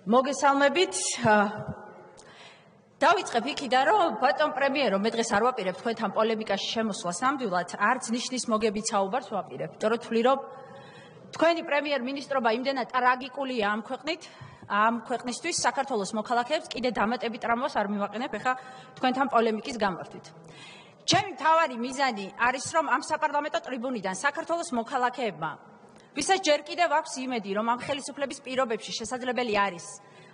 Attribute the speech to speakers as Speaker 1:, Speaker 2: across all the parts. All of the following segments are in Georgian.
Speaker 1: მოგესალმებით. დავიწყებ იქიდან, რომ ბატონ პრემიერო, მე დღეს არ ვაპირებ თქვენთან პოლემიკაში შემოსვლას ნამდვილად, არც ნიშნის მოგებით საუბარს ვაპირებ. იმიტომ რომ თვლი, რომ თქვენი პრემიერ-მინისტრობა იმდენად ტრაგიკულია ამ ქვეყნისთვის, საქართველოს მოქალაქეებს კიდე დამატებით ტრამვას არ მივაყენებ ეხა თქვენთან პოლემიკის გამართვით. ჩემი მთავარი მიზანი არის, რომ ამ საპარლამენტო ტრიბუნიდან საქართველოს მოქალაქეებმა ვისაც ჯერ კიდევ აქვს იმედი, რომ ამ ხელისუფლების პირობებში შესაძლებელი არის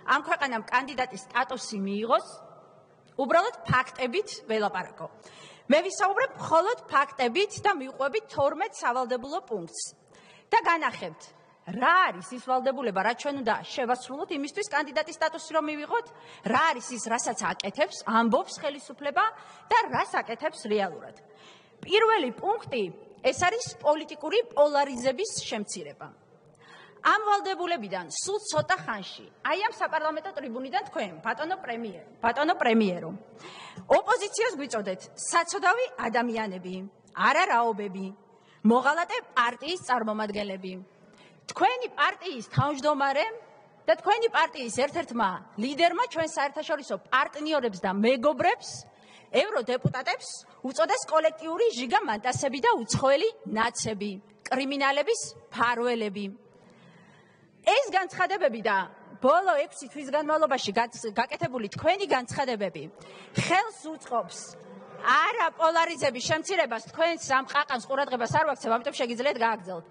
Speaker 1: ამ ქვეყანამ კანდიდატის სტატუსი მიიღოს, უბრალოდ ფაქტებით ველაპარაკო. მე ვისაუბრებ მხოლოდ ფაქტებით და მივყვებით 12 სავალდებულო პუნქტს. და განახებთ, რა არის ის ვალდებულება, რაც ჩვენ უნდა შევასრულოთ იმისთვის კანდიდატის სტატუსი რომ მივიღოთ, რა არის ის, რასაც აკეთებს, ამბობს ხელისუფლება და რას აკეთებს რეალურად. პირველი პუნქტი ეს არის პოლიტიკური პოლარიზების შემცირება. ამ ვალდებულებიდან სულ ცოტა ხანში, აი ამ საპარლამენტო ტრიბუნიდან თქვენ, ბატონო პრემიერო, ოპოზიციას გვიწოდეთ საცოდავი ადამიანები, არარაობები, მოღალატე პარტიის წარმომადგენლები. თქვენი პარტიის თავმჯდომარემ და თქვენი პარტიის ერთ-ერთმა ლიდერმა ჩვენ საერთაშორისო პარტნიორებს და მეგობრებს ევროდეპუტატებს უწოდეს კოლექტიური ჟიგამანტასები და უცხოელი ნაცები, კრიმინალების ფარველები. ეს განცხადებები და ბოლო 6 თვის განმავლობაში გაკეთებული თქვენი განცხადებები ხელს უწყობს არა პოლარიზების შემცირებას, თქვენს ამ ყაყანს ყურადღებას არ ვაქცევ, ამიტომ შეგიძლიათ გააგრძელოთ.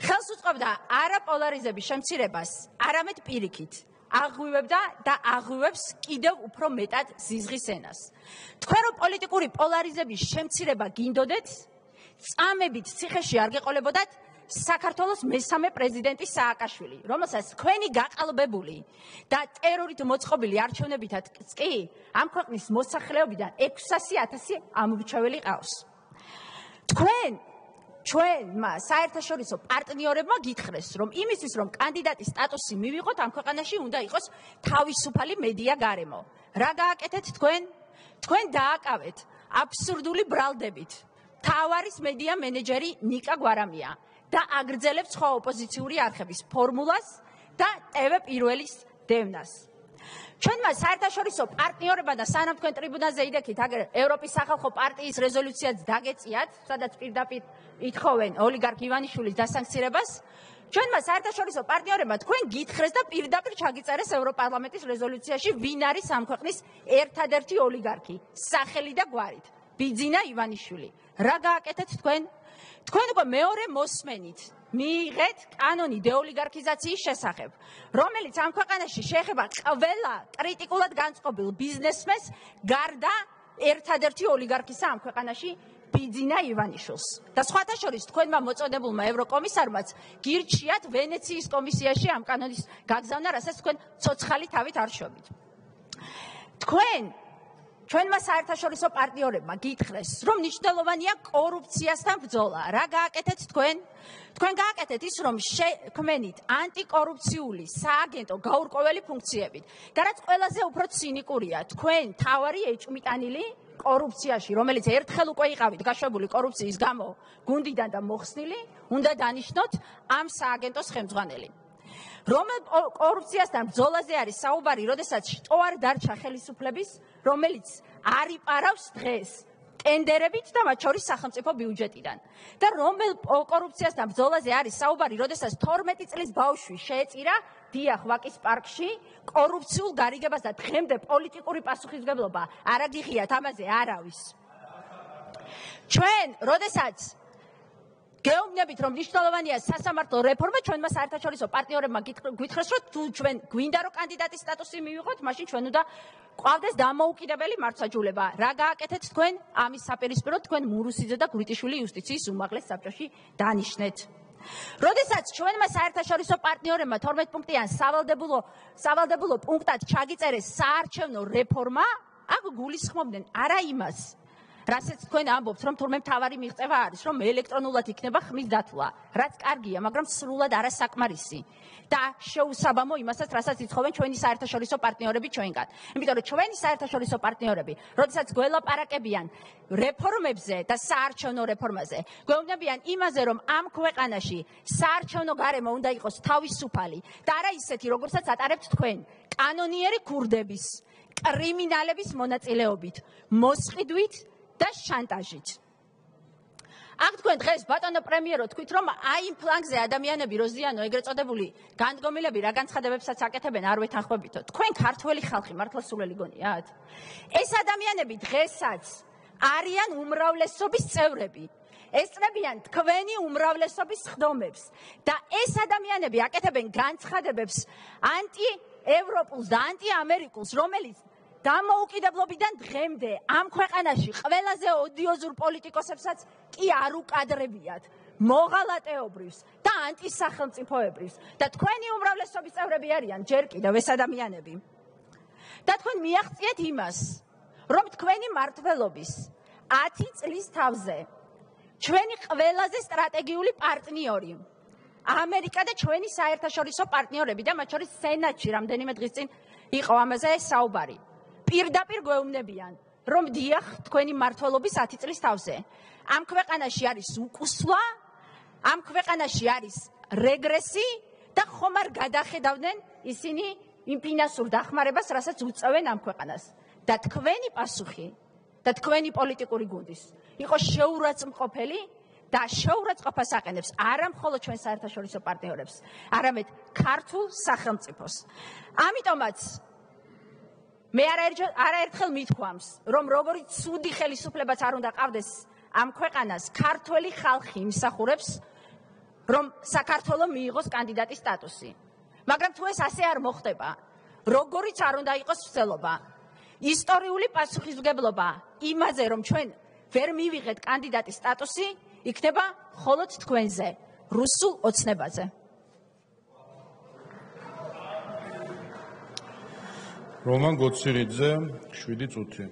Speaker 1: ხელს უწყობდა არა პოლარიზების შემცირებას, არამედ პირიქით. აღვივებდა და აღვივებს კიდევ უფრო მეტად ზიზღის ენას. თქვენ რომ პოლიტიკური პოლარიზების შემცირება გინდოდეთ, წამებით ციხეში არ გეყოლებოდათ საქართველოს მესამე პრეზიდენტი სააკაშვილი, რომელსაც თქვენი გაყალბებული და ტერორით მოწყობილი არჩევნებითაც კი ამ ქვეყნის მოსახლეობიდან 600,000 ამორჩეველი ყავს. ჩვენმა საერთაშორისო პარტნიორებმა გითხრეს, რომ იმისთვის, რომ კანდიდატის სტატუსი მივიღოთ, ამ ქვეყანაში უნდა იყოს თავისუფალი მედია გარემო. რა გააკეთეთ თქვენ? თქვენ დააკავეთ აბსურდული ბრალდებით თავარის მედია მენეჯერი ნიკა გვარამია და აგრძელებთ სხვა ოპოზიციური არხების ფორმულას და TV პირველის დევნას. ჩვენმა საერთაშორისო პარტნიორებმა და სანამ თქვენ ტრიბუნაზე იდექით, ევროპის სახალხო პარტიის რეზოლუციაც დაგეწიათ, სადაც პირდაპირ ითხოვენ ოლიგარქ ივანიშვილის დასანქცირებას. ჩვენმა საერთაშორისო პარტნიორებმა თქვენ გითხრეს და პირდაპირ ჩაგიწერეს ევროპარლამენტის რეზოლუციაში, ვინ არის ამ ქვეყნის ერთადერთი ოლიგარქი, სახელი და გვარით, ბიძინა ივანიშვილი. რა გააკეთეთ თქვენ? თქვენ უკვე მეორე მოსმენით მიიღეთ კანონი დეოლიგარქიზაციის შესახებ, რომელიც ამ ქვეყანაში შეეხება ყველა კრიტიკულად განწყობილ ბიზნესმენს, გარდა ერთადერთი ოლიგარქისა ამ ქვეყანაში ბიძინა ივანიშვილს. და სხვათა შორის თქვენმა მოწოდებულმა ევროკომისარმაც გირჩიათ ვენეციის კომისიაში ამ კანონის გაგზავნა, რასაც თქვენ ცოცხალი თავით არ შობთ. ჩვენმა საერთაშორისო პარტნიორებმა გითხრეს, რომ მნიშვნელოვანია კორუფციასთან ბრძოლა. რა გააკეთეთ თქვენ? თქვენ გააკეთეთ ის, რომ შექმნით ანტიკორუფციული სააგენტო გაურკვეველი ფუნქციებით. და რაც ყველაზე უფრო ცინიკურია, თქვენ თავარი ეჭვმიტანილი კორუფციაში, რომელიც ერთხელ უკვე იყავით გაშვებული კორუფციის გამო გუნდიდან და მოხსნილი, უნდა დანიშნოთ ამ სააგენტოს ხელმძღვანელი. რომელ კორუფციასთან ბრძოლაზე არის საუბარი, როდესაც შტო არ დარჩა ხელისუფლების, რომელიც არ იპარავს დღეს ტენდერებით და მათ შორის სახელმწიფო ბიუჯეტიდან. და რომელ კორუფციასთან ბრძოლაზე არის საუბარი, როდესაც 12 წლის ბავშვი შეეწირა დიახ ვაკის პარკში კორუფციულ გარიგებას და დღემდე პოლიტიკური პასუხისმგებლობა არ აგიღიათ ამაზე არავის. ჩვენ, როდესაც გეუბნებით, რომ მნიშვნელოვანია სასამართლო რეფორმა, ჩვენმა საერთაშორისო პარტნიორებმა გითხრეს, რომ თუ ჩვენ გვინდა რომ კანდიდატის სტატუსი მივიღოთ, მაშინ ჩვენ უნდა გვყავდეს დამოუკიდებელი მართლმსაჯულება. რა გააკეთეთ თქვენ? ამის საპირისპიროდ თქვენ მურუსიძე და გვრიტიშვილი იუსტიციის უმაღლეს საბჭოში დანიშნეთ. როდესაც ჩვენმა საერთაშორისო პარტნიორებმა 12 პუნქტიან სავალდებულო პუნქტად ჩაგიწერეს საარჩევნო რეფორმა, აქ გულისხმობდნენ არა იმას, რასაც თქვენ ამბობთ, რომ თურმე მთავარი მიღწევა არის, რომ ელექტრონულად იქნება ხმის დათვლა, რაც კარგია, მაგრამ სრულად არასაკმარისი და შეუსაბამო იმასაც, რასაც იცხოვენ ჩვენი საერთაშორისო პარტნიორები ჩვენგან. იმიტომ რომ ჩვენი საერთაშორისო პარტნიორები, როდესაც გველაპარაკებიან რეფორმებზე და საარჩევნო რეფორმაზე, გვეუბნებიან იმაზე, რომ ამ ქვეყანაში საარჩევნო გარემო უნდა იყოს თავისუფალი და არა ისეთი, როგორცაც ატარებთ თქვენ, კანონიერი ქურდების, კრიმინალების მონაწილეობით, მოსყიდვით და შანტაჟით. აქ თქვენ დღეს ბატონო პრემიერო თქვით, რომ აი იმ ფლანგზე ადამიანები როზიანო ეგრეთ წოდებული განდგომილები რა განცხადებებსაც აკეთებენ არ ვეთანხმებითო. თქვენ ქართველი ხალხი მართლა სულელი გონიათ? ეს ადამიანები დღესაც არიან უმრავლესობის წევრები. ესწრებიან თქვენი უმრავლესობის ხდომებს და ეს ადამიანები აკეთებენ განცხადებებს ანტიევროპულს და ანტიამერიკულს, რომელიც დამოუკიდებლობიდან დღემდე ამ ქვეყანაში ყველაზე ოდიოზურ პოლიტიკოსებსაც კი არ უკადრებიათ, მოღალატეობრივს და ანტისახელმწიფოებრივს და თქვენი უმრავლესობის წევრები არიან ჯერ კიდევ ეს ადამიანები. და თქვენ მიაღწიეთ იმას, რომ თქვენი მმართველობის 10 წლის თავზე ჩვენი ყველაზე სტრატეგიული პარტნიორი ამერიკა და ჩვენი საერთაშორისო პარტნიორები და მათ შორის სენატში რამდენიმე დღის წინ იყო ამაზე საუბარი. პირდაპირ გვეუბნებიან, რომ დიახ, თქვენი მმართველობის 10 წლის თავზე ამ ქვეყანაში არის უკუსვლა, ამ ქვეყანაში არის რეგრესი და ხომ არ გადახედავდნენ ისინი იმ ფინანსურ დახმარებას, რასაც უწევენ ამ ქვეყანას. და თქვენი პასუხი და თქვენი პოლიტიკური გუნდის იყო შეურაცხმყოფელი და შეურაცხყოფას აყენებს არა მხოლოდ ჩვენ საერთაშორისო პარტნიორებს, არამედ ქართულ სახელმწიფოს. ამიტომაც მე არაერთხელ მithქვამს, რომ როგორი ცუდი ხელისუფლებაც არ უნდა ყავდეს ამ ქვეყანას, ქართველი ხალხი იმსახურებს, რომ საქართველოს მიიღოს კანდიდატის სტატუსი. მაგრამ თუ ეს ასე არ მოხდება, როგორიც არ უნდა იყოს ვცდელობა, ისტორიული პასუხისმგებლობა იმაზე, რომ ჩვენ ვერ მივიღეთ კანდიდატის სტატუსი, იქნება მხოლოდ თქვენზე, რუსულ ოცნებაზე.
Speaker 2: რომან გოცირიძე 7 წუთი